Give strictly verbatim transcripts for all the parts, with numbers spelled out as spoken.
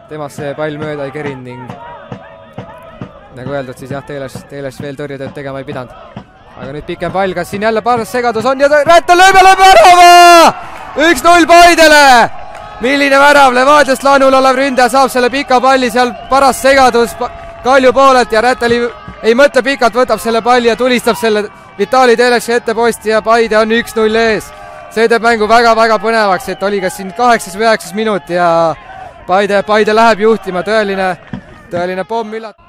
temast see pall mööda ei kerinud ning nagu öeldud, siis jah, Teeles, Teeles veel tõrjetööd tegema ei pidanud. Aga nüüd pikem pall, kas siin jälle paras segadus on ja Rätel lööb ja lööb värava! üks null Paidele! Milline värav, Levadiast laenul olev ründaja saab selle pika palli, seal paras segadus Kalju poolelt ja Rätel ei, ei mõtle pikalt, võtab selle palli ja tulistab selle Vitali Teeleksi ette posti ja Paide on üks null ees. See teeb mängu väga-väga põnevaks, et oli kas siin kaheksas või üheksas minut ja Paide, Paide läheb juhtima, tõeline, tõeline pomm üllat-.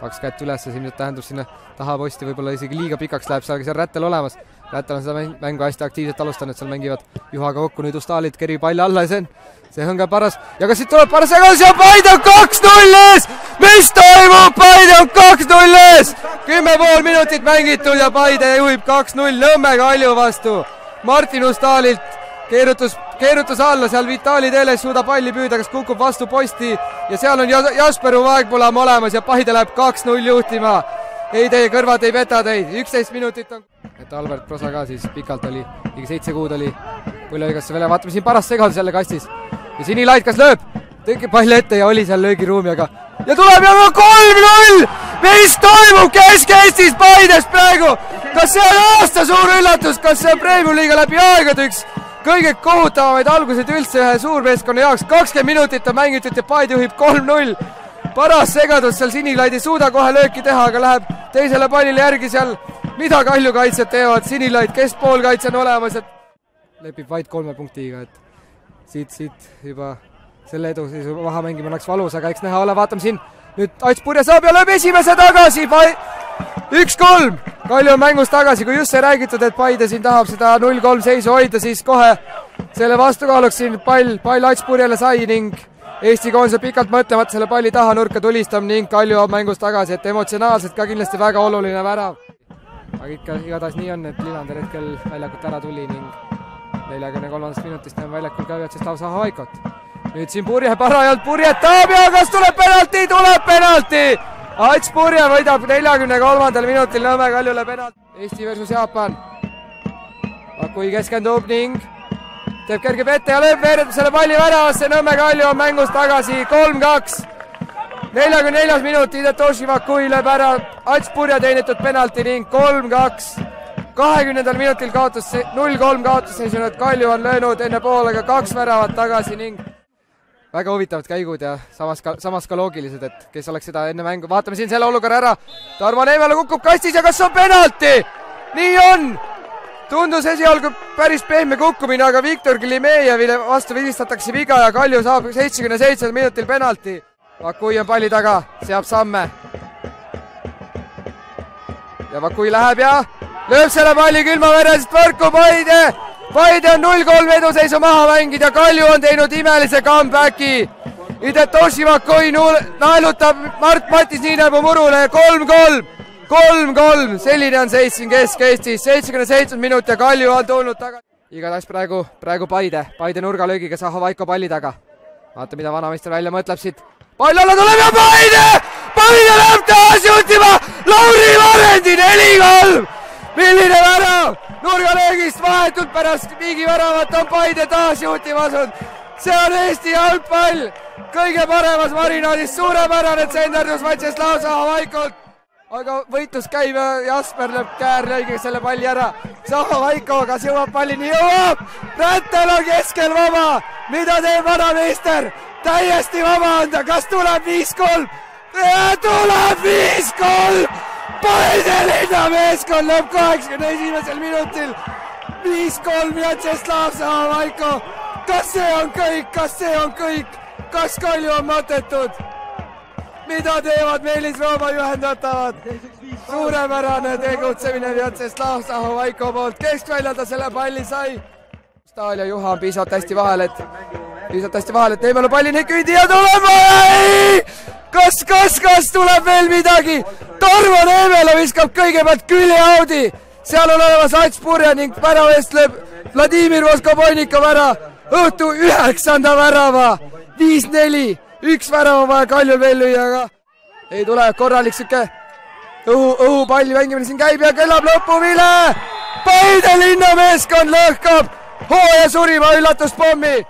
Kaks kätt üles, siin nüüd tähendab sinna taha posti, võib-olla isegi liiga pikaks läheb, seal seal Rätel olemas. Rätel on seda mängu hästi aktiivselt alustanud, seal mängivad Juhaga kokku, nüüd Ustalid kerib palli alla ja see on, see on ka paras. Ja kas siit tuleb paras segadus ja Paide on kaks null ees! Mis toimub? Paide on kaks null ees! Kümme pool minutit mängitud ja Paide juhib kaks null Nõmme Kalju vastu. Martin Ustalilt keerutus, keerutus alla, seal Vitali Teeles suudab palli püüda, kas kukub vastu posti ja seal on Jasper Vaegpulam olemas ja Paide läheb kaks null juhtima. Ei, teie kõrvad ei peta teid, üksteist minutit on. Et Albert Prosa ka siis pikalt oli, ligi seitse kuud oli Põlevõigasse veel, vaatame siin paras segadus jälle kastis. Ja Sinilait, kas lööb? Tõike pall ette ja oli seal löögiruumi, aga ja tuleb ja kolm null! Mis toimub Kesk-Eestis Paides praegu? Kas see on aasta suur üllatus? Kas see on Premium-liiga läbi aegade üks kõige kohutavamaid algused üldse ühe suurmeeskonna jaoks? kakskümmend minutit on mängitud ja Paide juhib kolm null. Paras segadus, seal Sinilaid ei suuda kohe lööki teha, aga läheb teisele pallile järgi seal. Mida Kalju kaitsjad teevad? Sinilaid, keskpoolkaitse on olemas, et lepib vaid kolme punktiga, et siit, siit juba selle edu siis maha mängima oleks valus, aga eks näha ole, vaatame siin. Nüüd Ats Purje saab ja lööb esimese tagasi. üks kolm. Kalju on mängus tagasi, kui just see räägitud, et Paide siin tahab seda null kolm seisu hoida, siis kohe selle vastukaaluks siin pall, pall Ats Purjele sai ning Eesti koondise pikalt mõtlemata selle palli taha nurka tulistab ning Kalju on mängus tagasi, et emotsionaalselt ka kindlasti väga oluline värav. Aga ikka igatahes nii on, et Lillander hetkel väljakult ära tuli ning neljakümne kolmandast minutist on väljakul ka üheksast lausa Haikot. Nüüd siin Purje parajalt purjetab ja kas tuleb penalti? Tuleb penalti! Ats Purje võidab neljakümne kolmandal minutil Nõmme Kaljule penalti. Eesti versus Jaapan. Kui keskendub ning teeb kergeb ette ja lööb veereb selle palli väravasse. Nõmme Kalju on mängus tagasi kolm kaks. neljakümne neljas minut Hidetoshi Vakui lööb ära Ats Purje teenitud penalti ning kolm kaks. kahekümnendal minutil kaotus null kolm kaotusseisu, et Kalju on löönud enne poolega kaks väravat tagasi ning väga huvitavad käigud ja samas ka, samas ka loogilised, et kes oleks seda enne mängu. Vaatame siin selle olukorra ära. Tarmo Neemela kukub kastis ja kas on penalti? Nii on! Tundus esialgu päris pehme kukkumine, aga Viktor Klimejevile vastu viistatakse viga ja Kalju saab seitsmekümne seitsmendal minutil penalti. Vakui on palli taga, seab samme. Ja Vakui läheb ja lööb selle palli külmaveresest võrku. Paide! Paide on null kolm eduseisu maha mängid ja Kalju on teinud imelise comebacki. Hidetoshi Vakui naelutab Mart Matis Niinepuu murule kolm kolm. kolm kolm, selline on seis siin Kesk-Eestis, seitsekümmend seitse minut ja Kalju on tulnud tagasi. Igatahes praegu, praegu Paide, Paide nurgalöögiga Zaho Vaiko palli taga. Vaata, mida vanameister välja mõtleb siit. Pall alla tuleb ja Paide! Paide läheb taas juhtima! Lauri Varendi neli kolm! Milline värav! Nurgalöögist vahetult pärast Viigi väravat on Paide taas juhtima asunud. See on Eesti jalgpall! Kõige paremas marinaadis, suurepärane tsenderdus Vaitseslav Zaho Vaikolt. Aga võitlus käib ja Jasper lööb käärlöögiga selle palli ära. Zaho Vaiko, kas jõuab pallini? Jõuab! Rätel on keskel vaba! Mida teeb vanameister? Täiesti vaba on ta, kas tuleb viis kolm? Tuleb viis kolm! Paide linna meeskond lööb kaheksakümne esimesel minutil. viis kolm Vjatšeslav Zaho Vaiko. Kas see on kõik? Kas see on kõik? Kas Kalju on matetud? Mida teevad Meelis Rooma juhendatavad? Suurepärane tegutsemine Vjatšeslav Zaho Vaiko poolt. Keskväljal ta selle palli sai. Stahl ja Juha on piisavalt hästi vahel, et piisavalt hästi vahel, et Neemelu pallini kündi ja tuleb! Kas, kas, kas tuleb veel midagi? Tarmo Neemelu viskab kõigepealt küljeaudi. Seal on olemas Ats Purje ning värava eest lööb Vladimir Voskoboinikov ära. Õhtu üheksanda värava. viis neli. Üks värava vaja Kaljul veel lüüa, aga ei tule korralik süke õhu, õhupalli mängimine siin käib ja kõlab lõpuvile. Paide linnameeskond lõhkab hooaja surima üllatuspommi.